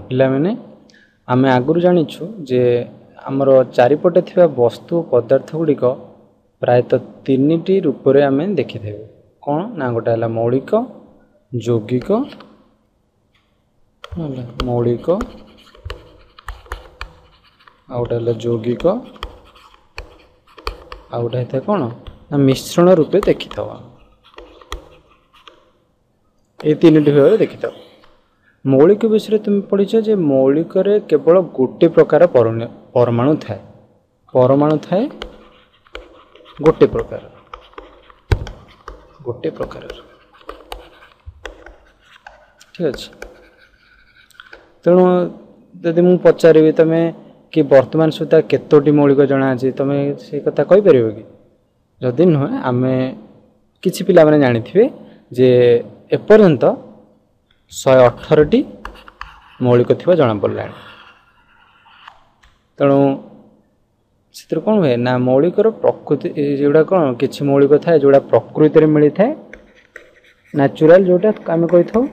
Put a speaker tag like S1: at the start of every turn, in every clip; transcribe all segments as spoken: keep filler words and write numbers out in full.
S1: ପିଲାମାନେ, ଆମେ ଆଗରୁ ଜାଣିଛୁ ଯେ ଆମର ଚାରିପଟେ ଥିବା ବସ୍ତୁ ପଦାର୍ଥ ଗୁଡ଼ିକ ପ୍ରାୟତଃ ତିନିଟି ରୂପରେ ଆମେ ଦେଖିଥାଉ। କ'ଣ ନା ଗୋଟେ ହେଲା ମୌଳିକ, ଯୌଗିକ, ହେଲା ମୌଳିକ, ଆଉ ଗୋଟେ ହେଲା ଯୌଗିକ, ଆଉ ଗୋଟେ ହେଇଥାଏ କ'ଣ ନା ମିଶ୍ରଣ ରୂପେ ଦେଖିଥାଉ। ଏଇ ତିନିଟି ଭାବରେ ଦେଖିଥାଉ। ମୌଳିକ ବିଷୟରେ ତୁମେ ପଢ଼ିଛ ଯେ ମୌଳିକରେ କେବଳ ଗୋଟେ ପ୍ରକାର ପରମାଣୁ ଥାଏ, ପରମାଣୁ ଥାଏ ଗୋଟେ ପ୍ରକାର, ଗୋଟେ ପ୍ରକାରର, ଠିକ୍ ଅଛି। ତେଣୁ ଯଦି ମୁଁ ପଚାରିବି ତୁମେ କି ବର୍ତ୍ତମାନ ସୁଦ୍ଧା କେତୋଟି ମୌଳିକ ଜଣାଅଛି, ତୁମେ ସେ କଥା କହିପାରିବ କି? ଯଦି ନୁହେଁ, ଆମେ କିଛି ପିଲାମାନେ ଜାଣିଥିବେ ଯେ ଏପର୍ଯ୍ୟନ୍ତ ଶହେ ଅଠରଟି ମୌଳିକ ଥିବା ଜଣାପଡ଼ିଲାଣି। ତେଣୁ ସେଥିରୁ କ'ଣ ହୁଏ ନା ମୌଳିକର ପ୍ରକୃତି ଯେଉଁଟା କ'ଣ କିଛି ମୌଳିକ ଥାଏ ଯେଉଁଟା ପ୍ରକୃତିରେ ମିଳିଥାଏ, ନ୍ୟାଚୁରାଲ ଯେଉଁଟା ଆମେ କହିଥାଉ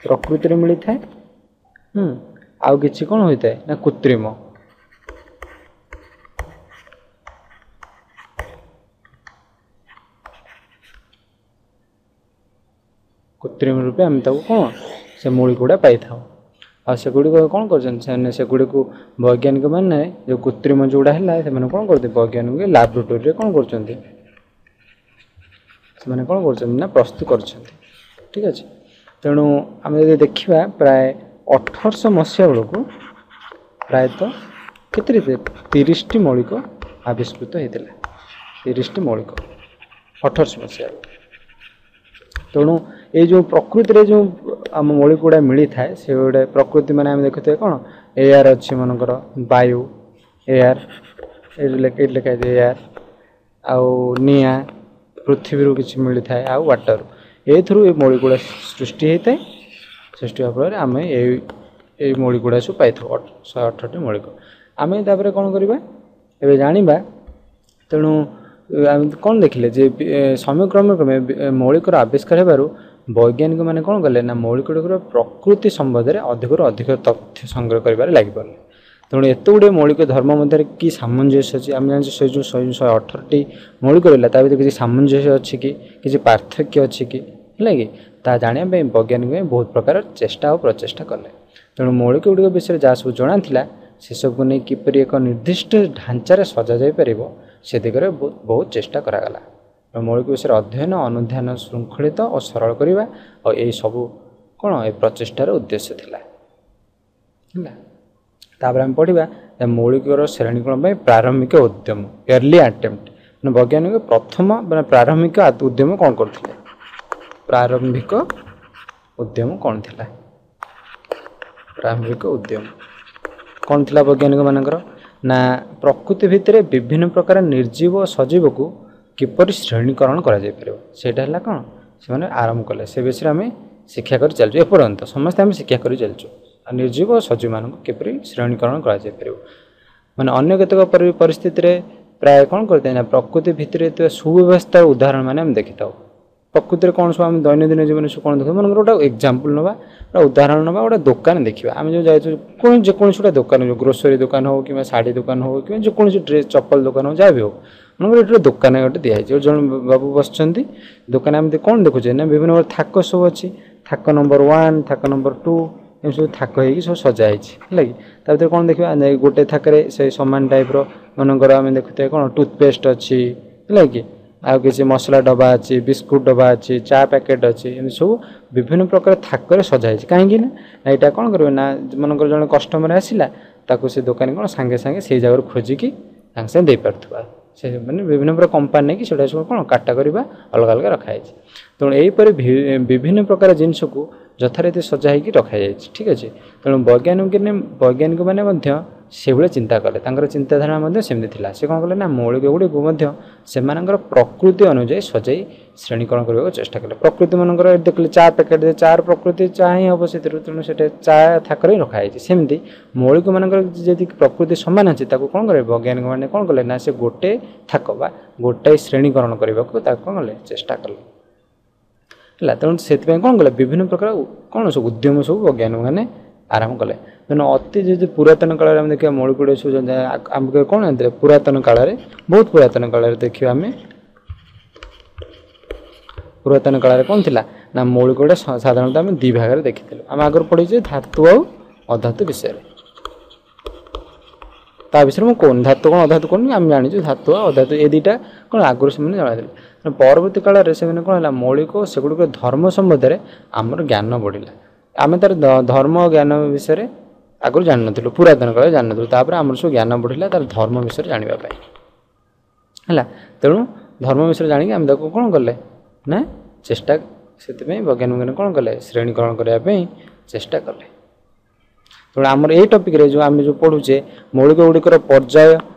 S1: ପ୍ରକୃତିରେ ମିଳିଥାଏ। ହୁଁ ଆଉ କିଛି କ'ଣ ହୋଇଥାଏ ନା କୃତ୍ରିମ। କୃତ୍ରିମ ରୂପେ ଆମେ ତାକୁ କ'ଣ ସେ ମୌଳିକ ଗୁଡ଼ା ପାଇଥାଉ। ଆଉ ସେଗୁଡ଼ିକ କ'ଣ କରୁଛନ୍ତି ସେମାନେ ସେଗୁଡ଼ିକୁ ବୈଜ୍ଞାନିକମାନେ ଯେଉଁ କୃତ୍ରିମ ଯେଉଁଗୁଡ଼ା ହେଲା ସେମାନେ କ'ଣ କରୁଛନ୍ତି ବୈଜ୍ଞାନିକ ଲାବୋରେଟୋରୀରେ କ'ଣ କରୁଛନ୍ତି ସେମାନେ କ'ଣ କରୁଛନ୍ତି ନା ପ୍ରସ୍ତୁତ କରୁଛନ୍ତି। ଠିକ୍ ଅଛି। ତେଣୁ ଆମେ ଯଦି ଦେଖିବା ପ୍ରାୟ ଅଠରଶହ ମସିହା ବେଳକୁ ପ୍ରାୟତଃ କେତେ ତିରିଶଟି ମୌଳିକ ଆବିଷ୍କୃତ ହେଇଥିଲା, ତିରିଶଟି ମୌଳିକ ଅଠରଶହ ମସିହା। ତେଣୁ ଏଇ ଯେଉଁ ପ୍ରକୃତିରେ ଯେଉଁ ଆମ ମୌଳିକ ଗୁଡ଼ା ମିଳିଥାଏ ସେଗୁଡ଼ା ପ୍ରକୃତି ମାନେ ଆମେ ଦେଖୁଥିବା କ'ଣ ଏୟାର ଅଛି, ମନେକର ବାୟୁ, ଏୟାର ଏଇଠି ଏଇଠି ଲେଖା ହେଇଛି ଏୟାର, ଆଉ ନିଆଁ, ପୃଥିବୀରୁ କିଛି ମିଳିଥାଏ, ଆଉ ୱାଟର। ଏଇଥିରୁ ଏ ମୌଳିକ ଗୁଡ଼ା ସୃଷ୍ଟି ହେଇଥାଏ। ସୃଷ୍ଟି ହେବା ଫଳରେ ଆମେ ଏଇ ଏଇ ମୌଳିକ ଗୁଡ଼ା ସବୁ ପାଇଥାଉ, ଶହେ ଅଠରଟି ମୌଳିକ। ଆମେ ତାପରେ କ'ଣ କରିବା ଏବେ ଜାଣିବା। ତେଣୁ ଆମେ କ'ଣ ଦେଖିଲେ ଯେ ସମୟକ୍ରମେ କ୍ରମେ ମୌଳିକର ଆବିଷ୍କାର ହେବାରୁ ବୈଜ୍ଞାନିକମାନେ କ'ଣ କଲେ ନା ମୌଳିକ ଗୁଡ଼ିକର ପ୍ରକୃତି ସମ୍ବନ୍ଧରେ ଅଧିକରୁ ଅଧିକ ତଥ୍ୟ ସଂଗ୍ରହ କରିବାରେ ଲାଗିପଡ଼ିଲେ। ତେଣୁ ଏତେ ଗୁଡ଼ିଏ ମୌଳିକ ଧର୍ମ ମଧ୍ୟରେ କି ସାମଞ୍ଜସ୍ୟ ଅଛି? ଆମେ ଜାଣିଛୁ ସେ ଯେଉଁ ଶହେ ଶହେ ଅଠରଟି ମୌଳିକ ରହିଲା ତା ଭିତରେ କିଛି ସାମଞ୍ଜସ୍ୟ ଅଛି କି, କିଛି ପାର୍ଥକ୍ୟ ଅଛି କି, ହେଲା କି, ତାହା ଜାଣିବା ପାଇଁ ବୈଜ୍ଞାନିକମାନେ ବହୁତ ପ୍ରକାର ଚେଷ୍ଟା ଓ ପ୍ରଚେଷ୍ଟା କଲେ। ତେଣୁ ମୌଳିକ ଗୁଡ଼ିକ ବିଷୟରେ ଯାହା ସବୁ ଜଣାଥିଲା ସେସବୁକୁ ନେଇ କିପରି ଏକ ନିର୍ଦ୍ଦିଷ୍ଟ ଢାଞ୍ଚାରେ ସଜାଯାଇପାରିବ ସେ ଦିଗରେ ବହୁତ ଚେଷ୍ଟା କରାଗଲା। ମୌଳିକ ବିଷୟରେ ଅଧ୍ୟୟନ ଅନୁଧ୍ୟାନ ଶୃଙ୍ଖଳିତ ଓ ସରଳ କରିବା ଆଉ ଏଇ ସବୁ କ'ଣ ଏ ପ୍ରଚେଷ୍ଟାର ଉଦ୍ଦେଶ୍ୟ ଥିଲା। ହେଲା। ତାପରେ ଆମେ ପଢ଼ିବା ମୌଳିକର ଶ୍ରେଣୀକରଣ ପାଇଁ ପ୍ରାରମ୍ଭିକ ଉଦ୍ୟମ, ଏର୍ଲି ଆଟେମ୍ପ୍ଟ। ମାନେ ବୈଜ୍ଞାନିକ ପ୍ରଥମ ମାନେ ପ୍ରାରମ୍ଭିକ ଉଦ୍ୟମ କ'ଣ କରୁଥିଲେ? ପ୍ରାରମ୍ଭିକ ଉଦ୍ୟମ କ'ଣ ଥିଲା? ପ୍ରାରମ୍ଭିକ ଉଦ୍ୟମ କ'ଣ ଥିଲା ବୈଜ୍ଞାନିକମାନଙ୍କର? ନା ପ୍ରକୃତି ଭିତରେ ବିଭିନ୍ନ ପ୍ରକାର ନିର୍ଜୀବ ଓ ସଜୀବକୁ କିପରି ଶ୍ରେଣୀକରଣ କରାଯାଇପାରିବ ସେଇଟା ହେଲା କ'ଣ ସେମାନେ ଆରମ୍ଭ କଲେ। ସେ ବିଷୟରେ ଆମେ ଶିକ୍ଷା କରି ଚାଲିଛୁ ଏପର୍ଯ୍ୟନ୍ତ, ସମସ୍ତେ ଆମେ ଶିକ୍ଷା କରି ଚାଲିଛୁ ଆଉ ନିର୍ଜୀବ ଓ ସଜୀବମାନଙ୍କୁ କିପରି ଶ୍ରେଣୀକରଣ କରାଯାଇପାରିବ। ମାନେ ଅନ୍ୟ କେତେକ ପରିସ୍ଥିତିରେ ପ୍ରାୟ କ'ଣ କରିଥାଏ ନା ପ୍ରକୃତି ଭିତରେ ଥିବା ସୁବ୍ୟବସ୍ଥାର ଉଦାହରଣ ମାନେ ଆମେ ଦେଖିଥାଉ। ପ୍ରକୃତିରେ କ'ଣ ସବୁ ଆମେ ଦୈନନ୍ଦିନ ଜୀବନରେ ସବୁ କ'ଣ ଦେଖିଥାଉ, ମନେକର ଗୋଟେ ଏକ୍ଜାମ୍ପଲ୍ ନେବା, ଗୋଟେ ଉଦାହରଣ ନେବା, ଗୋଟେ ଦୋକାନ ଦେଖିବା। ଆମେ ଯେଉଁ ଯାଇଛୁ କୌଣସି ଯେକୌଣସି ଗୋଟେ ଦୋକାନ, ଯେଉଁ ଗ୍ରୋସରୀ ଦୋକାନ ହେଉ କିମ୍ବା ଶାଢ଼ୀ ଦୋକାନ ହେଉ କିମ୍ବା ଯେକୌଣସି ଡ୍ରେସ୍ ଚପଲ ଦୋକାନ ହେଉ ଯାହା ବି ହେଉ, ମନେକର ଏଠି ଗୋଟେ ଦୋକାନ ଗୋଟେ ଦିଆହେଇଛି, ଜଣେ ବାବୁ ବସିଛନ୍ତି ଦୋକାନ। ଆମେ କ'ଣ ଦେଖୁଛେ ନା ବିଭିନ୍ନ ପ୍ରକାର ଥାକ ସବୁ ଅଛି, ଥାକ ନମ୍ବର ୱାନ୍, ଥାକ ନମ୍ବର ଟୁ, ଏମିତି ସବୁ ଥାକ ହେଇକି ସବୁ ସଜା ହେଇଛି। ହେଲା କି। ତା ଭିତରେ କ'ଣ ଦେଖିବା, ଗୋଟେ ଥାକରେ ସେଇ ସମାନ ଟାଇପ୍ର ମନେକର ଆମେ ଦେଖୁଥିବା କ'ଣ ଟୁଥପେଷ୍ଟ ଅଛି, ହେଲା କି, ଆଉ କିଛି ମସଲା ଡବା ଅଛି, ବିସ୍କୁଟ ଡବା ଅଛି, ଚା ପ୍ୟାକେଟ୍ ଅଛି, ଏମିତି ସବୁ ବିଭିନ୍ନ ପ୍ରକାର ଥାକରେ ସଜା ହେଇଛି। କାହିଁକି ନା ଏଇଟା କ'ଣ କରିବେ ନା ମନେକର ଜଣେ କଷ୍ଟମର ଆସିଲା ତାକୁ ସେ ଦୋକାନୀ କ'ଣ ସାଙ୍ଗେ ସାଙ୍ଗେ ସେଇ ଜାଗାରୁ ଖୋଜିକି ସାଙ୍ଗେ ସାଙ୍ଗେ ଦେଇପାରୁଥିବା। ସେ ମାନେ ବିଭିନ୍ନ ପ୍ରକାର କମ୍ପାନୀ ନେଇକି ସେଟା ସବୁ କ'ଣ କାଟାଗୋରୀ ବା ଅଲଗା ଅଲଗା ରଖାଯାଇଛି। ତେଣୁ ଏହିପରି ବିଭିନ୍ନ ପ୍ରକାର ଜିନିଷକୁ ଯଥାରୀତି ସଜା ହେଇକି ରଖାଯାଇଛି। ଠିକ୍ ଅଛି। ତେଣୁ ବୈଜ୍ଞାନିକ ବୈଜ୍ଞାନିକମାନେ ମଧ୍ୟ ସେଭଳି ଚିନ୍ତା କଲେ, ତାଙ୍କର ଚିନ୍ତାଧାରା ମଧ୍ୟ ସେମିତି ଥିଲା। ସେ କ'ଣ କଲେ ନା ମୌଳିକ ଗୁଡ଼ିକୁ ମଧ୍ୟ ସେମାନଙ୍କର ପ୍ରକୃତି ଅନୁଯାୟୀ ସଜାଇ ଶ୍ରେଣୀକରଣ କରିବାକୁ ଚେଷ୍ଟା କଲେ। ପ୍ରକୃତି ମାନଙ୍କର ଦେଖିଲେ ଚା ପ୍ୟାକେଟ୍, ଚାର ପ୍ରକୃତି ଚା ହିଁ ହେବ ସେଥିରୁ, ତେଣୁ ସେଇଟା ଚା ଥାକରେ ହିଁ ରଖାଯାଇଛି। ସେମିତି ମୌଳିକ ମାନଙ୍କର ଯଦି ପ୍ରକୃତି ସମାନ ଅଛି ତାକୁ କ'ଣ କଲେ ବୈଜ୍ଞାନିକମାନେ କ'ଣ କଲେ ନା ସେ ଗୋଟେ ଥାକ ବା ଗୋଟାଏ ଶ୍ରେଣୀକରଣ କରିବାକୁ ତାକୁ କ'ଣ କଲେ ଚେଷ୍ଟା କଲେ। ହେଲା। ତେଣୁ ସେଥିପାଇଁ କ'ଣ କଲେ ବିଭିନ୍ନ ପ୍ରକାର କ'ଣ ସବୁ ଉଦ୍ୟମ ସବୁ ବୈଜ୍ଞାନିକମାନେ ଆରମ୍ଭ କଲେ। ତେଣୁ ଅତି ଯଦି ପୁରାତନ କାଳରେ ଆମେ ଦେଖିବା ମୌଳିକ ଗୁଡ଼ିକ ସବୁ ଆମେ କ'ଣ ଜାଣିଥିଲେ ପୁରାତନ କାଳରେ, ବହୁତ ପୁରାତନ କାଳରେ ଦେଖିବା ଆମେ ପୁରାତନ କାଳରେ କ'ଣ ଥିଲା ନା ମୌଳିକ ଗୁଡ଼ା ସାଧାରଣତଃ ଆମେ ଦୁଇ ଭାଗରେ ଦେଖିଥିଲୁ। ଆମେ ଆଗରୁ ପଢ଼ିଛେ ଧାତୁ ଆଉ ଅଧାତୁ ବିଷୟରେ, ତା ବିଷୟରେ ମୁଁ କହୁନି, ଧାତୁ କ'ଣ ଅଧାତୁ କହୁନି, ଆମେ ଜାଣିଛୁ ଧାତୁ ଆଉ ଅଧାତୁ ଏ ଦୁଇଟା କ'ଣ ଆଗରୁ ସେମାନେ ଜଣାଇଥିଲେ। ତେଣୁ ପରବର୍ତ୍ତୀ କାଳରେ ସେମାନେ କ'ଣ ହେଲା ମୌଳିକ ସେଗୁଡ଼ିକର ଧର୍ମ ସମ୍ବନ୍ଧରେ ଆମର ଜ୍ଞାନ ବଢ଼ିଲା। ଆମେ ତା'ର ଧର୍ମ ଜ୍ଞାନ ବିଷୟରେ ଆଗରୁ ଜାଣିନଥିଲୁ, ପୁରାତନ କାଳରେ ଜାଣିନଥିଲୁ। ତାପରେ ଆମର ସବୁ ଜ୍ଞାନ ବଢ଼ିଲା ତା'ର ଧର୍ମ ବିଷୟରେ ଜାଣିବା ପାଇଁ ହେଲା। ତେଣୁ ଧର୍ମ ବିଷୟରେ ଜାଣିକି ଆମେ ତାକୁ କ'ଣ କଲେ ନା ଚେଷ୍ଟା, ସେଥିପାଇଁ ବୈଜ୍ଞାନିକମାନେ କ'ଣ କଲେ ଶ୍ରେଣୀକରଣ କରିବା ପାଇଁ ଚେଷ୍ଟା କଲେ। ତେଣୁ ଆମର ଏଇ ଟପିକ୍ରେ ଯେଉଁ ଆମେ ଯେଉଁ ପଢ଼ୁଛେ ମୌଳିକ ଗୁଡ଼ିକର ପର୍ଯ୍ୟାୟ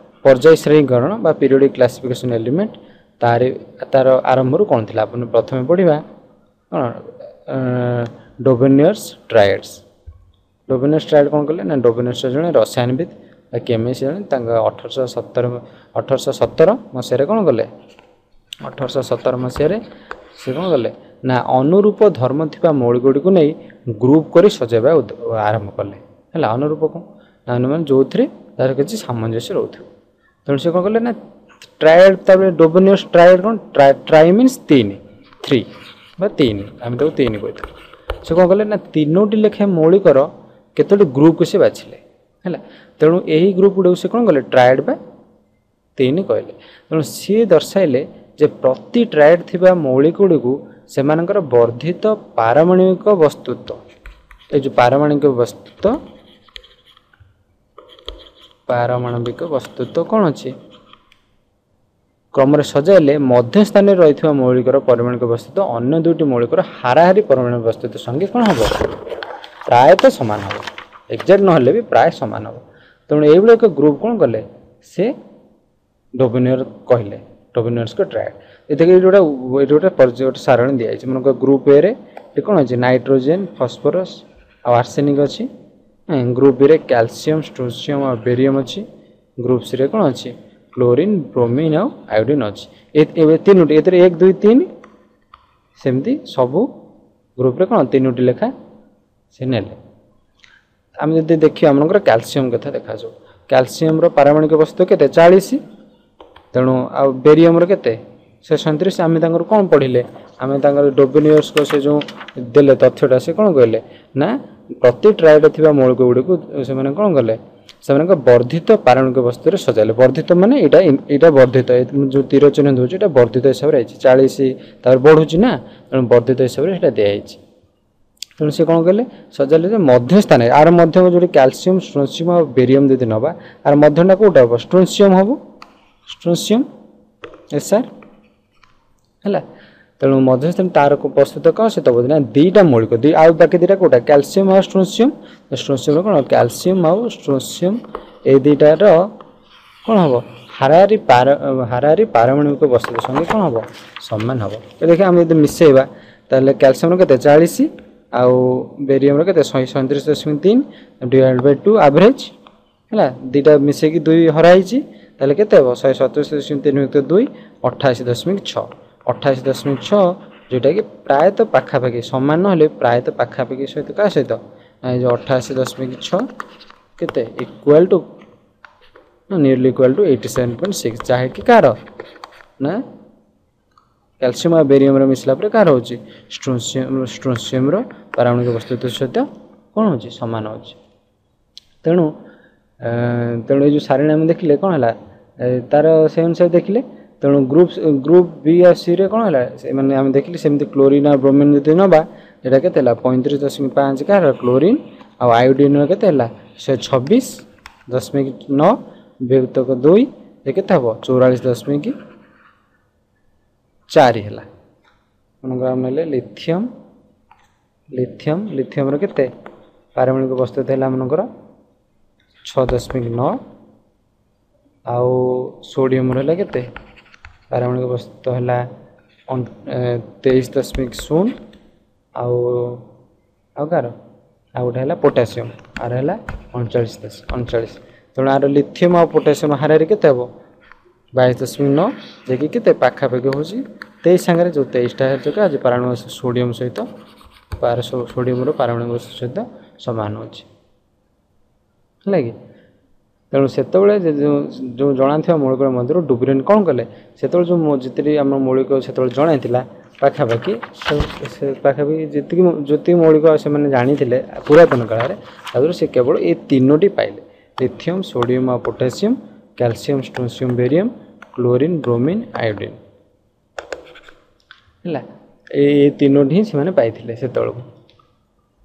S1: ପର୍ଯ୍ୟାୟ ଶ୍ରେଣୀକରଣ ବା ପିରିୟଡ଼ିକ୍ କ୍ଲାସିଫିକେସନ୍ ଏଲିମେଣ୍ଟ, ତାର ତାର ଆରମ୍ଭରୁ କ'ଣ ଥିଲା ଆପଣ ପ୍ରଥମେ ପଢ଼ିବା କ'ଣ ଡୋବେନିୟର୍ସ ଟ୍ରାଏଡ୍ସ। ଡୋବେନିୟର୍ସ ଟ୍ରାଏଡ୍ କ'ଣ କଲେ ନା ଡୋବେନିୟର୍ସ ଜଣେ ରସାୟନବିତ୍ ବା କେମିଷ୍ଟ ଜଣେ, ତାଙ୍କ ଅଠରଶହ ସତର ଅଠରଶହ ସତର ମସିହାରେ କ'ଣ କଲେ ଅଠରଶହ ସତର ମସିହାରେ ସେ କ'ଣ କଲେ ନା ଅନୁରୂପ ଧର୍ମ ଥିବା ମୌଳିକ ଗୁଡ଼ିକୁ ନେଇ ଗ୍ରୁପ୍ କରି ସଜାଇବା ଆରମ୍ଭ କଲେ। ହେଲା ଅନୁରୂପ କ'ଣ ନା ମାନେ ଯେଉଁଥିରେ ତାର କିଛି ସାମଞ୍ଜସ୍ୟ ରହୁଥିବ। ତେଣୁ ସେ କ'ଣ କଲେ ନା ଟ୍ରାଏଡ୍, ତାପରେ ଡୋବେନିୟର୍ସ ଟ୍ରାଏଡ୍ କ'ଣ ଟ୍ରାଇ ମିନ୍ସ ତିନି, ଥ୍ରୀ ବା ତିନି, ଆମେ ତାକୁ ତିନି କହିଥାଉ। ସେ କ'ଣ କଲେ ନା ତିନୋଟି ଲେଖାଏଁ ମୌଳିକର କେତୋଟି ଗ୍ରୁପକୁ ସେ ବାଛିଲେ ହେଲା। ତେଣୁ ଏହି ଗ୍ରୁପ୍ ଗୁଡ଼ିକୁ ସେ କ'ଣ କଲେ ଟ୍ରାଏଡ୍ ବା ତିନି କହିଲେ। ତେଣୁ ସିଏ ଦର୍ଶାଇଲେ ଯେ ପ୍ରତି ଟ୍ରାଏଡ୍ ଥିବା ମୌଳିକ ଗୁଡ଼ିକୁ ସେମାନଙ୍କର ବର୍ଦ୍ଧିତ ପାରମାଣବିକ ବସ୍ତୁତ୍ୱ, ଏ ଯେଉଁ ପାରମାଣବିକ ବସ୍ତୁତ୍ୱ ପାରମାଣବିକ ବସ୍ତୁତ୍ୱ କ'ଣ ଅଛି କ୍ରମରେ ସଜାଇଲେ ମଧ୍ୟସ୍ଥାନରେ ରହିଥିବା ମୌଳିକର ପାରମାଣବିକ ବସ୍ତୁତ୍ୱ ଅନ୍ୟ ଦୁଇଟି ମୌଳିକର ହାରାହାରି ପାରମାଣବିକ ବସ୍ତୁତ୍ୱ ସଙ୍ଗେ କ'ଣ ହେବ ପ୍ରାୟତଃ ସମାନ ହେବ, ଏକ୍ଜାକ୍ଟ ନହେଲେ ବି ପ୍ରାୟ ସମାନ ହେବ। ତେଣୁ ଏଇଭଳି ଏକ ଗ୍ରୁପ୍ କ'ଣ କଲେ ସେ ଡୋବେନିୟର କହିଲେ, ଡୋବେନିୟର୍ସଙ୍କ ଟ୍ରାଏଡ୍। ଏଥିରେ ଏଇଠି ଗୋଟେ ଏଇଠି ଗୋଟେ ପର୍ଯ୍ୟାୟ ଗୋଟେ ସାରଣୀ ଦିଆଯାଇଛି। ମନେକର ଗ୍ରୁପ୍ ଏରେ ଏଠି କ'ଣ ଅଛି ନାଇଟ୍ରୋଜେନ୍, ଫସ୍ଫରସ୍ ଆଉ ଆର୍ସେନିକ୍ ଅଛି। ଗ୍ରୁପ୍ ବିରେ କ୍ୟାଲସିୟମ୍, ଷ୍ଟ୍ରୋସିୟମ୍ ଆଉ ବେରିୟମ୍ ଅଛି। ଗ୍ରୁପ୍ ସିରେ କ'ଣ ଅଛି କ୍ଲୋରିନ୍, ବ୍ରୋମିନ୍ ଆଉ ଆୟୋଡିନ୍ ଅଛି। ଏ ତିନୋଟି, ଏଥିରେ ଏକ ଦୁଇ ତିନି, ସେମିତି ସବୁ ଗ୍ରୁପ୍ରେ କ'ଣ ତିନୋଟି ଲେଖା ସେ ନେଲେ। ଆମେ ଯଦି ଦେଖିବା ଆମମାନଙ୍କର କ୍ୟାଲସିୟମ୍ କଥା ଦେଖାଯାଉ, କ୍ୟାଲସିୟମ୍ର ପାରମାଣବିକ ବସ୍ତୁ କେତେ ଚାଳିଶ, ତେଣୁ ଆଉ ବେରିୟମ୍ର କେତେ ଶହେ ସଇଁତିରିଶ। ଆମେ ତାଙ୍କର କ'ଣ ପଢ଼ିଲେ, ଆମେ ତାଙ୍କର ଡୋବେନିୟର୍ସଙ୍କ ସେ ଯେଉଁ ଦେଲେ ତଥ୍ୟଟା ସେ କ'ଣ କହିଲେ ନା ପ୍ରତି ଟ୍ରାଏଡ୍ ଥିବା ମୌଳିକ ଗୁଡ଼ିକୁ ସେମାନେ କ'ଣ କଲେ ସେମାନଙ୍କ ବର୍ଦ୍ଧିତ ପାରମାଣବିକ ବସ୍ତୁରେ ସଜାଇଲେ। ବର୍ଦ୍ଧିତ ମାନେ ଏଇଟା ଏଇଟା ବର୍ଦ୍ଧିତ, ଯେଉଁ ତୀର ଚିହ୍ନ ଦେଉଛି ଏଇଟା ବର୍ଦ୍ଧିତ ହିସାବରେ ହେଇଛି, ଚାଳିଶ ତାପରେ ବଢ଼ୁଛି ନା, ତେଣୁ ବର୍ଦ୍ଧିତ ହିସାବରେ ସେଇଟା ଦିଆହେଇଛି। ତେଣୁ ସେ କ'ଣ କଲେ ସଜାଇଲେ ଯେ ମଧ୍ୟସ୍ଥାନରେ ଆର ମଧ୍ୟ ଯେଉଁଠି କ୍ୟାଲସିୟମ୍, ଷ୍ଟ୍ରୋସିୟମ୍ ଆଉ ବେରିୟମ୍ ଯଦି ନେବା ଆର ମଧ୍ୟଟା କେଉଁଟା ହେବ ଷ୍ଟ୍ରୋସିୟମ୍ ହେବ, ଷ୍ଟ୍ରୋସିୟମ୍ ଏସ୍ ଆର୍ ହେଲା। ତେଣୁ ମଧ୍ୟସ୍ଥାନ ତାର ପ୍ରସ୍ତୁତ କ'ଣ ସେ ଦେବ ନା ଦୁଇଟା ମୌଳିକ ଦୁଇ, ଆଉ ବାକି ଦୁଇଟା କେଉଁଟା କ୍ୟାଲସିୟମ୍ ଆଉ ଷ୍ଟ୍ରୋସିୟମ୍। ଷ୍ଟ୍ରୋସିୟମ୍ର କ'ଣ କ୍ୟାଲସିୟମ୍ ଆଉ ଷ୍ଟ୍ରୋସିୟମ୍ ଏଇ ଦୁଇଟାର କ'ଣ ହେବ ହାରାହାରି ପାର ହାରାହାରି ପାରମାଣବିକ ବସ୍ତୁ ସଙ୍ଗେ କ'ଣ ହେବ ସମାନ ହେବ। ଦେଖିବା ଆମେ ଯଦି ମିଶାଇବା ତାହେଲେ କ୍ୟାଲସିୟମ୍ର କେତେ ଚାଳିଶ ଆଉ ବେରିୟମ୍ର କେତେ ଶହେ ସଇଁତିରିଶ ଦଶମିକ ତିନି ଡିଭାଇଡ଼ ବାଇ ଟୁ ଆଭରେଜ୍ ହେଲା, ଦୁଇଟା ମିଶେଇକି ଦୁଇ ହରା ହେଇଛି, ତାହେଲେ କେତେ ହେବ ଶହେ ସତେଇଶ ଦଶମିକ ତିନି ବିଭକ୍ତ ଦୁଇ ଅଠାଅଶୀ ଦଶମିକ ଛଅ, ଅଠାଅଶୀ ଦଶମିକ ଛଅ, ଯେଉଁଟାକି ପ୍ରାୟତଃ ପାଖାପାଖି ସମାନ ନହେଲେ ପ୍ରାୟତଃ ପାଖାପାଖି ସହିତ କାହା ସହିତ ନା ଏ ଯେଉଁ ଅଠାଅଶୀ ଦଶମିକ ଛଅ କେତେ equal to nearly equal to eighty seven point six, ଯାହାକି କାହାର ନା କ୍ୟାଲସିୟମ୍ ଆଉ ବେରିୟମ୍ର ମିଶିଲା ପରେ କାହାର ହେଉଛି ଷ୍ଟ୍ରୋସିୟମ୍, ଷ୍ଟ୍ରୋସିୟମ୍ର ପାରମାଣବିକ ବସ୍ତୁତ୍ୱ ସହିତ କ'ଣ ହେଉଛି ସମାନ ହେଉଛି। ତେଣୁ ତେଣୁ ଏଇ ଯେଉଁ ସାରଣୀ ଆମେ ଦେଖିଲେ କ'ଣ ହେଲା ତାର ସେଇ ଅନୁସାରେ ଦେଖିଲେ। ତେଣୁ ଗ୍ରୁପ୍ ଗ୍ରୁପ୍ ବି ଆଉ ସିରେ କ'ଣ ହେଲା ସେମାନେ ଆମେ ଦେଖିଲେ ସେମିତି କ୍ଲୋରିନ୍ ଆଉ ବ୍ରୋମିନ୍ ଯଦି ନେବା ଏଇଟା କେତେ ହେଲା ପଇଁତିରିଶ ଦଶମିକ ପାଞ୍ଚ କାହାର କ୍ଲୋରିନ୍ ଆଉ ଆୟୋଡିନ୍ର କେତେ ହେଲା ଶହେ ଛବିଶ ଦଶମିକ ନଅ ବିଭକ୍ତକ ଦୁଇ ଏ କେତେ ହେବ ଚଉରାଳିଶ ଦଶମିକ ଚାରି ହେଲା। ମନେକର ଆମେ ନେଲେ ଲିଥିୟମ୍, ଲିଥିୟମ୍ ଲିଥିୟମ୍ର କେତେ ପାରମାଣବିକ ବସ୍ତୁ ହେଲା ମନେକର ଛଅ ଦଶମିକ ନଅ ଆଉ ସୋଡ଼ିୟମ୍ର ହେଲା କେତେ ପାରମାଣବିକ ବସ୍ତୁ ହେଲା ତେଇଶ ଦଶମିକ ଶୂନ ଆଉ ଆଉ କାହାର ଆଉ ଗୋଟେ ହେଲା ପୋଟାସିୟମ୍ ଆର ହେଲା ଅଣଚାଳିଶ ଦଶ ଅଣଚାଳିଶ। ତେଣୁ ଆର ଲିଥିୟମ୍ ଆଉ ପୋଟାସିୟମ୍ ହାରାହାରି କେତେ ହେବ ବାଇଶ ଦଶମିକ ନଅ, ଯାଇକି କେତେ ପାଖାପାଖି ହେଉଛି ତେଇଶ ସାଙ୍ଗରେ ଯେଉଁ ତେଇଶଟା ହେଉଛି ଆଜି ପାରମାଣବିକ ସୋଡ଼ିୟମ୍ ସହିତ ପାର ସୋଡ଼ିୟମ୍ର ପାରମାଣବିକ ବସ୍ତୁ ସହିତ ସମାନ ହେଉଛି। ହେଲା କି? ତେଣୁ ସେତେବେଳେ ଯେଉଁ ଯେଉଁ ଜଣାଥିବା ମୌଳିକ ମଧ୍ୟରୁ ଡୁବ୍ରେନ୍ କ'ଣ କଲେ? ସେତେବେଳେ ଯେଉଁ ଯେତିକି ଆମ ମୌଳିକ ସେତେବେଳେ ଜଣାଇଥିଲା, ପାଖାପାଖି ସେ ପାଖାପାଖି ଯେତିକି ଯେତିକି ମୌଳିକ ସେମାନେ ଜାଣିଥିଲେ ପୁରାତନ କାଳରେ, ତାଦେହରୁ ସେ କେବଳ ଏ ତିନୋଟି ପାଇଲେ: ଲିଥିୟମ୍, ସୋଡ଼ିୟମ୍ ଆଉ potassium, calcium, strontium, barium, chlorine, bromine, iodine. ହେଲା, ଏଇ ତିନୋଟି ହିଁ ସେମାନେ ପାଇଥିଲେ ସେତେବେଳକୁ।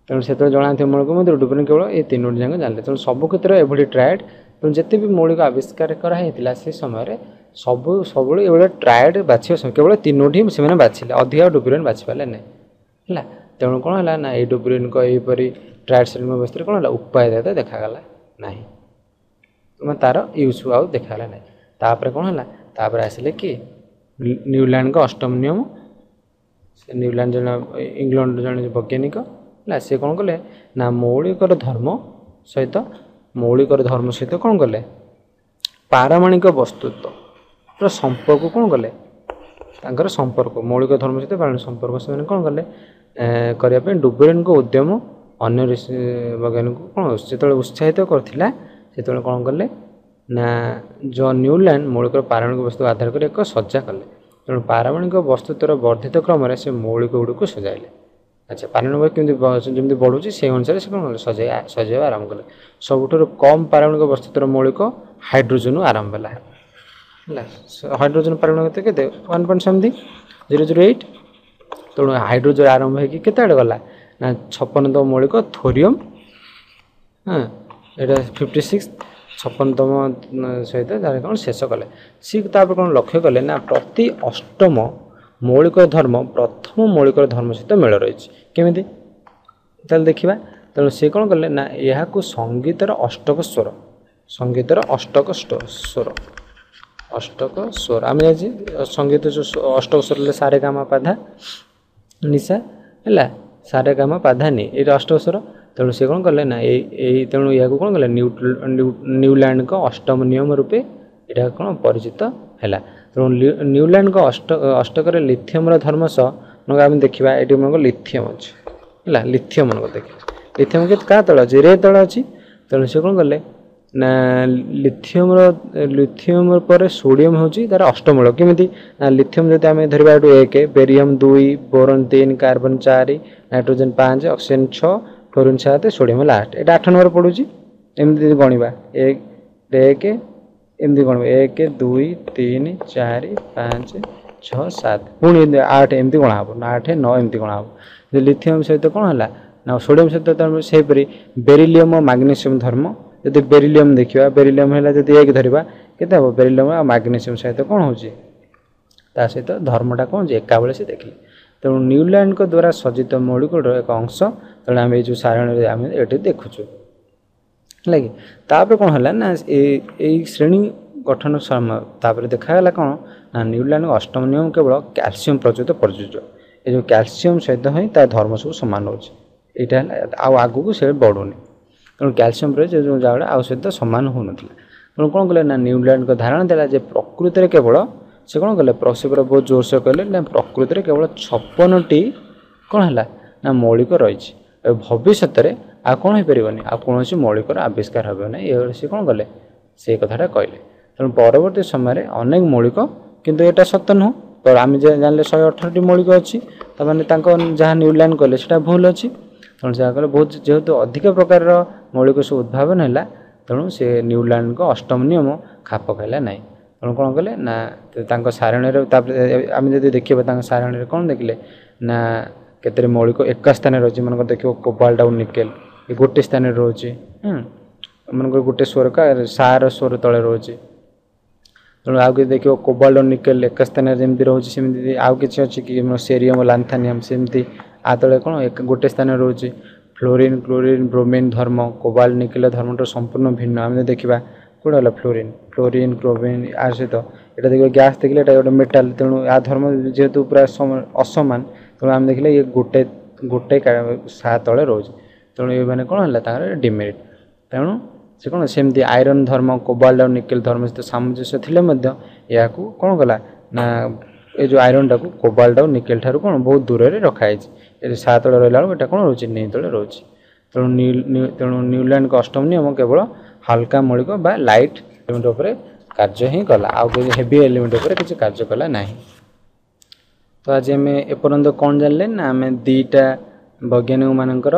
S1: ତେଣୁ ସେତେବେଳେ ଜଣାଥିବା ମୌଳିକ ମଧ୍ୟରୁ ଡୁବ୍ରେନ୍ କେବଳ ଏ ତିନୋଟି ଯାକ ଜାଣିଲେ। ତେଣୁ ସବୁ କ୍ଷେତ୍ରରେ ଏଭଳି ଟ୍ରାଏଡ୍, ତେଣୁ ଯେତେ ବି ମୌଳିକ ଆବିଷ୍କାର କରାହେଇଥିଲା ସେ ସମୟରେ, ସବୁ ସବୁବେଳେ ଏଭଳିଆ ଟ୍ରାଏଡ୍ ବାଛିବା କେବଳ ତିନୋଟି ହିଁ ସେମାନେ ବାଛିଲେ, ଅଧିକା ଡୁବ୍ରେନ୍ ବାଛି ପାରିଲେ ନାହିଁ। ହେଲା, ତେଣୁ କ'ଣ ହେଲା ନା ଏଇ ଡୁବ୍ରେନ୍ଙ୍କ ଏହିପରି ଟ୍ରାଏଡ୍ ଶ୍ରେଣୀ ବ୍ୟବସ୍ଥାରେ କ'ଣ ହେଲା, ଉପାଦେୟତା ଦେଖାଗଲା ନାହିଁ, ମାନେ ତା'ର ୟୁଜ୍ ଆଉ ଦେଖାଗଲା ନାହିଁ। ତାପରେ କ'ଣ ହେଲା? ତାପରେ ଆସିଲେ କି ନ୍ୟୁଲ୍ୟାଣ୍ଡଙ୍କ ଅଷ୍ଟମ ନିୟମ। ସେ ନ୍ୟୁଲ୍ୟାଣ୍ଡ ଜଣେ ଇଂଲଣ୍ଡର ଜଣେ ବୈଜ୍ଞାନିକ। ହେଲା, ସେ କ'ଣ କଲେ ନା ମୌଳିକର ଧର୍ମ ସହିତ ମୌଳିକର ଧର୍ମ ସହିତ କ'ଣ କଲେ, ପାରମାଣିକ ବସ୍ତୁତ୍ୱର ସମ୍ପର୍କ କ'ଣ କଲେ, ତାଙ୍କର ସମ୍ପର୍କ, ମୌଳିକ ଧର୍ମ ସହିତ ପାରମାଣିକ ସମ୍ପର୍କ ସେମାନେ କ'ଣ କଲେ କରିବା ପାଇଁ ଡୁବେରେନ୍ଙ୍କ ଉଦ୍ୟମ ଅନ୍ୟ ବୈଜ୍ଞାନିକଙ୍କୁ କ'ଣ ଯେତେବେଳେ ଉତ୍ସାହିତ କରିଥିଲା, ସେତେବେଳେ କ'ଣ କଲେ ନା ଜନ୍ ନ୍ୟୁଲ୍ୟାଣ୍ଡ ମୌଳିକର ପାରମାଣିକ ବସ୍ତୁ ଆଧାର କରି ଏକ ସଜ୍ଜା କଲେ। ତେଣୁ ପାରମାଣିକ ବସ୍ତୁତ୍ୱର ବର୍ଦ୍ଧିତ କ୍ରମରେ ସେ ମୌଳିକ ଗୁଡ଼ିକୁ ସଜାଇଲେ। ଆଚ୍ଛା, ପାରମାଣିକ କେମିତି ଯେମିତି ବଢ଼ୁଛି, ସେଇ ଅନୁସାରେ ସେ କ'ଣ କଲେ, ସଜାଇ ସଜାଇବା ଆରମ୍ଭ କଲେ। ସବୁଠାରୁ କମ୍ ପାରମାଣିକ ବସ୍ତୁତ୍ୱର ମୌଳିକ ହାଇଡ୍ରୋଜେନରୁ ଆରମ୍ଭ ହେଲା। ହେଲା, ହାଇଡ୍ରୋଜେନ ପାରମାଣିକ କେତେ? One point something zero zero eight. ତେଣୁ ହାଇଡ୍ରୋଜେନ ଆରମ୍ଭ ହେଇକି କେତେ ଆଡ଼େ ଗଲା ନା ଛପନତମ ମୌଳିକ ଥୋରିୟମ୍, ହଁ, ଏଇଟା ଫିଫ୍ଟି ସିକ୍ସ, ଛପନତମ ସହିତ ତାର କ'ଣ ଶେଷ କଲେ ସିଏ। ତାପରେ କ'ଣ ଲକ୍ଷ୍ୟ କଲେ ନା ପ୍ରତି ଅଷ୍ଟମ ମୌଳିକ ଧର୍ମ ପ୍ରଥମ ମୌଳିକର ଧର୍ମ ସହିତ ମେଳ ରହିଛି। କେମିତି ତାହେଲେ ଦେଖିବା। ତେଣୁ ସେ କ'ଣ କଲେ ନା ଏହାକୁ ସଙ୍ଗୀତର ଅଷ୍ଟକ ସ୍ୱର, ସଙ୍ଗୀତର ଅଷ୍ଟକ ସ୍ୱର, ଅଷ୍ଟକ ସ୍ୱର ଆମେ ଜାଣିଛେ ସଙ୍ଗୀତ ଯେଉଁ ଅଷ୍ଟକ ସ୍ୱର ହେଲେ ସାରେ ଗାମା ପାଧା ନିଶା। ହେଲା, ସାରେ ଗାମା ପାଧା ନି, ଏଇଟା ଅଷ୍ଟକ ସ୍ୱର। ତେଣୁ ସେ କ'ଣ କଲେ ନା ଏଇ ଏଇ ତେଣୁ ଏହାକୁ କ'ଣ କଲେ, ନ୍ୟୁଲ୍ୟାଣ୍ଡଙ୍କ ଅଷ୍ଟମ ନିୟମ ରୂପେ ଏଇଟା କ'ଣ ପରିଚିତ ହେଲା। ତେଣୁ ନ୍ୟୁଲ୍ୟାଣ୍ଡଙ୍କ ଅଷ୍ଟ ଅଷ୍ଟକରେ ଲିଥିୟମର ଧର୍ମ ସହ ଆମେ ଦେଖିବା, ଏଇଠି ମନେକର ଲିଥିୟମ ଅଛି। ହେଲା, ଲିଥିୟମ ମନେକର ଦେଖିବା, ଲିଥିୟମ କେତେ କାହା ତଳେ ଅଛି? ରେ ତଳେ ଅଛି। ତେଣୁ ସେ କ'ଣ କଲେ ନା ଲିଥିୟମର ଲିଥିୟମ ପରେ ସୋଡ଼ିୟମ ହେଉଛି ତାର ଅଷ୍ଟମୂଳ। କେମିତି ନା ଲିଥିୟମ ଯଦି ଆମେ ଧରିବା ଏଠୁ ଏକ, ବେରିୟମ ଦୁଇ, ବୋରନ ତିନି, କାର୍ବନ ଚାରି, ନାଇଟ୍ରୋଜେନ ପାଞ୍ଚ, ଅକ୍ସିଜେନ ଛଅ, ଫ୍ଲୋରିନ୍ ସାତ, ସୋଡ଼ିୟମ ହେଲା ଆଠ। ଏଇଟା ଆଠ ନମ୍ବର ପଡ଼ୁଛି। ଏମିତି ଯଦି ଗଣିବା, ଏକ ଏକ, ଏମିତି ଗଣିବା, ଏକ, ଦୁଇ, ତିନି, ଚାରି, ପାଞ୍ଚ, ଛଅ, ସାତ, ପୁଣି ଏମିତି ଆଠ, ଏମିତି ଗଣା ହେବ ନା ଆଠ, ନଅ, ଏମିତି ଗଣା ହେବ। ଲିଥିୟମ ସହିତ କ'ଣ ହେଲା ନା ସୋଡ଼ିୟମ ସହିତ ସେହିପରି ବେରିଲିୟମ ଓ ମାଗ୍ନେସିୟମ ଧର୍ମ ଯଦି ବେରିଲିୟମ ଦେଖିବା, ବେରିଲିୟମ ହେଲା ଯଦି ଏକ ଧରିବା କେତେ ହେବ? ବେରିଲିୟମ ଆଉ ମାଗ୍ନେସିୟମ ସହିତ କ'ଣ ହେଉଛି, ତା ସହିତ ଧର୍ମଟା କ'ଣ ହେଉଛି ଏକା ବେଳେ ସେ ଦେଖିଲେ। ତେଣୁ ନ୍ୟୁଲ୍ୟାଣ୍ଡଙ୍କ ଦ୍ୱାରା ସଜ୍ଜିତ ମୌଳିକର ଏକ ଅଂଶ। ତେଣୁ ଆମେ ଏଇ ଯେଉଁ ସାରଣୀରେ ଆମେ ଏଠି ଦେଖୁଛୁ। ହେଲା କି? ତାପରେ କ'ଣ ହେଲା ନା ଏଇ ଶ୍ରେଣୀ ଗଠନ ସମୟ ତାପରେ ଦେଖାଗଲା କ'ଣ ନା ନ୍ୟୁଲ୍ୟାଣ୍ଡଙ୍କ ଅଷ୍ଟମ ନିୟମ କେବଳ କ୍ୟାଲସିୟମ ପ୍ରଯୁକ୍ତ ପ୍ରଯୁଜ୍ୟ। ଏ ଯେଉଁ କ୍ୟାଲସିୟମ ସହିତ ହିଁ ତା ଧର୍ମ ସବୁ ସମାନ ରହୁଛି, ଏଇଟା ହେଲା, ଆଉ ଆଗକୁ ସେ ବଢ଼ୁନି। ତେଣୁ କ୍ୟାଲସିୟମ ପରେ ଯେଉଁ ଜାଗା ଆଉ ସହିତ ସମାନ ହେଉନଥିଲା। ତେଣୁ କ'ଣ କଲେ ନା ନ୍ୟୁଲ୍ୟାଣ୍ଡଙ୍କ ଧାରଣା ଦେଲା ଯେ ପ୍ରକୃତିରେ କେବଳ, ସେ କ'ଣ କଲେ, ସେ ପୁରା ବହୁତ ଜୋରସୋର କହିଲେ ନା ପ୍ରକୃତିରେ କେବଳ ଛପନଟି କ'ଣ ହେଲା ନା ମୌଳିକ ରହିଛି। ଭବିଷ୍ୟତରେ ଆଉ କ'ଣ ହେଇପାରିବନି, ଆଉ କୌଣସି ମୌଳିକର ଆବିଷ୍କାର ହେବ ନାହିଁ। ଏଭଳି ସେ କ'ଣ କଲେ, ସେଇ କଥାଟା କହିଲେ। ତେଣୁ ପରବର୍ତ୍ତୀ ସମୟରେ ଅନେକ ମୌଳିକ, କିନ୍ତୁ ଏଇଟା ସତ ନୁହଁ। ତ ଆମେ ଜାଣିଲେ ଶହେ ଅଠରଟି ମୌଳିକ ଅଛି। ତାମାନେ ତାଙ୍କ ଯାହା ନ୍ୟୁଲ୍ୟାଣ୍ଡ କଲେ ସେଇଟା ଭୁଲ ଅଛି। ତେଣୁ ଯାହା କଲେ ବହୁତ ଯେହେତୁ ଅଧିକ ପ୍ରକାରର ମୌଳିକ ସବୁ ଉଦ୍ଭାବନ ହେଲା, ତେଣୁ ସେ ନ୍ୟୁଲ୍ୟାଣ୍ଡଙ୍କ ଅଷ୍ଟମ ନିୟମ ଖାପ ଖାଇଲା ନାହିଁ। ତେଣୁ କ'ଣ କଲେ ନା ତାଙ୍କ ସାରଣୀରେ, ତାପରେ ଆମେ ଯଦି ଦେଖିବା ତାଙ୍କ ସାରଣୀରେ କ'ଣ ଦେଖିଲେ ନା କେତେରେ ମୌଳିକ ଏକା ସ୍ଥାନରେ ରହିଛି। ମନେକର ଦେଖିବ କୋବାଲ୍ଟ ଆଉ ନିକେଲ ଏ ଗୋଟେ ସ୍ଥାନରେ ରହୁଛି, ମନେକର ଗୋଟେ ସ୍ୱର ସାର ସ୍ୱର ତଳେ ରହୁଛି। ତେଣୁ ଆଉ କିଛି ଦେଖିବ କୋବାଲ୍ଟ ନିକେଲ ଏକା ସ୍ଥାନରେ ଯେମିତି ରହୁଛି, ସେମିତି ଆଉ କିଛି ଅଛି କି? ସେରିୟମ, ଲାନ୍ଥାନିୟମ ସେମିତି ଆ ତଳେ କ'ଣ ଗୋଟେ ସ୍ଥାନରେ ରହୁଛି। ଫ୍ଲୋରିନ୍, କ୍ଲୋରିନ୍, ବ୍ରୋମିନ୍ ଧର୍ମ କୋବାଲ୍ଟ ନିକେଲ ଧର୍ମଠୁ ସମ୍ପୂର୍ଣ୍ଣ ଭିନ୍ନ। ଆମେ ଯଦି ଦେଖିବା କେଉଁଟା ହେଲା ଫ୍ଲୋରିନ୍, ଫ୍ଲୋରିନ୍, କ୍ଲୋରିନ୍ ଆ ସହିତ ଏଇଟା ଦେଖିବା, ଗ୍ୟାସ୍ ଦେଖିଲେ ଏଇଟା ଗୋଟେ ମେଟାଲ। ତେଣୁ ଆ ଧର୍ମ ଯେହେତୁ ପୁରା ଅସମାନ, ତେଣୁ ଆମେ ଦେଖିଲେ ଇଏ ଗୋଟେ ଗୋଟେ ସା ତଳେ ରହୁଛି। ତେଣୁ ଏମାନେ କ'ଣ ହେଲା ତାଙ୍କର ଡିମେରିଟ୍। ତେଣୁ ସେ କ'ଣ ସେମିତି ଆଇରନ୍ ଧର୍ମ କୋବାଲ୍ଟ ଆଉ ନିକେଲ ଧର୍ମ ସହିତ ସାମଞ୍ଜସ୍ୟ ଥିଲେ ମଧ୍ୟ ଏହାକୁ କ'ଣ କଲା ନା ଏ ଯେଉଁ ଆଇରନ୍ଟାକୁ କୋବାଲ୍ଟ ଆଉ ନିକେଲ ଠାରୁ କ'ଣ ବହୁତ ଦୂରରେ ରଖାହେଇଛି। ଏ ସା ତଳେ ରହିଲା ବେଳକୁ ଏଇଟା କ'ଣ ରହୁଛି, ନି ତଳେ ରହୁଛି। ତେଣୁ ତେଣୁ ନ୍ୟୁଲ୍ୟାଣ୍ଡଙ୍କ ଅଷ୍ଟମ ନିୟମ କେବଳ ହାଲକା ମୌଳିକ ବା ଲାଇଟ୍ ଏଲିମେଣ୍ଟ ଉପରେ କାର୍ଯ୍ୟ ହିଁ କଲା, ଆଉ କିଛି ହେଭି ଏଲିମେଣ୍ଟ ଉପରେ କିଛି କାର୍ଯ୍ୟ କଲା ନାହିଁ। ତ ଆଜି ଆମେ ଏପର୍ଯ୍ୟନ୍ତ କ'ଣ ଜାଣିଲେ ନା, ଆମେ ଦୁଇଟା ବୈଜ୍ଞାନିକମାନଙ୍କର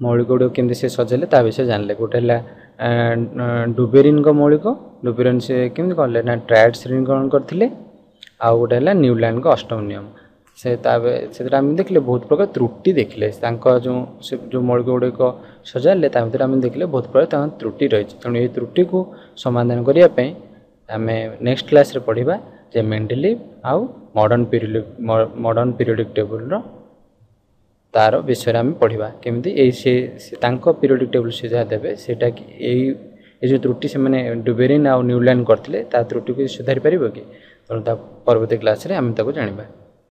S1: ମୌଳିକ ଗୁଡ଼ିକ କେମିତି ସେ ସଜେଇଲେ ତା ବିଷୟରେ ଜାଣିଲେ। ଗୋଟେ ହେଲା ଡୁବେରିନଙ୍କ ମୌଳିକ, ଡୁବେରିନ୍ ସେ କେମିତି କଲେ ନା ଟ୍ରାଏଡ୍ ଶ୍ରେଣୀକରଣ କରିଥିଲେ। ଆଉ ଗୋଟେ ହେଲା ନ୍ୟୁଲ୍ୟାଣ୍ଡଙ୍କ ଅଷ୍ଟମ ନିୟମ। ସେ ତା ସେଥିରେ ଆମେ ଦେଖିଲେ ବହୁତ ପ୍ରକାର ତ୍ରୁଟି ଦେଖିଲେ। ତାଙ୍କ ଯେଉଁ ସେ ଯେଉଁ ମୌଳିକ ଗୁଡ଼ିକ ସଜାଡ଼ିଲେ, ତା ଭିତରେ ଆମେ ଦେଖିଲେ ବହୁତ ପ୍ରକାର ତାଙ୍କ ତ୍ରୁଟି ରହିଛି। ତେଣୁ ଏଇ ତ୍ରୁଟିକୁ ସମାଧାନ କରିବା ପାଇଁ ଆମେ ନେକ୍ସଟ କ୍ଲାସ୍ରେ ପଢ଼ିବା ଯେ ମେଣ୍ଡେଲିଭ୍ ଆଉ ମଡ଼ର୍ଣ୍ଣ ପିରିୟଡ଼ିକ୍ ମଡ଼ର୍ଣ୍ଣ ପିରିୟଡ଼ିକ୍ ଟେବୁଲ୍ର ତାର ବିଷୟରେ ଆମେ ପଢ଼ିବା, କେମିତି ଏଇ ସେ ତାଙ୍କ ପିରିୟଡ଼ିକ୍ ଟେବୁଲ୍ ସେ ଯାହା ଦେବେ ସେଇଟା ଏଇ ଏ ଯେଉଁ ତ୍ରୁଟି ସେମାନେ ଡୁବେରିନ୍ ଆଉ ନ୍ୟୁଲ୍ୟାଣ୍ଡ କରିଥିଲେ ତା ତ୍ରୁଟିକୁ ସୁଧାରି ପାରିବ କି? ତେଣୁ ତା ପରବର୍ତ୍ତୀ କ୍ଲାସ୍ରେ ଆମେ ତାକୁ ଜାଣିବା।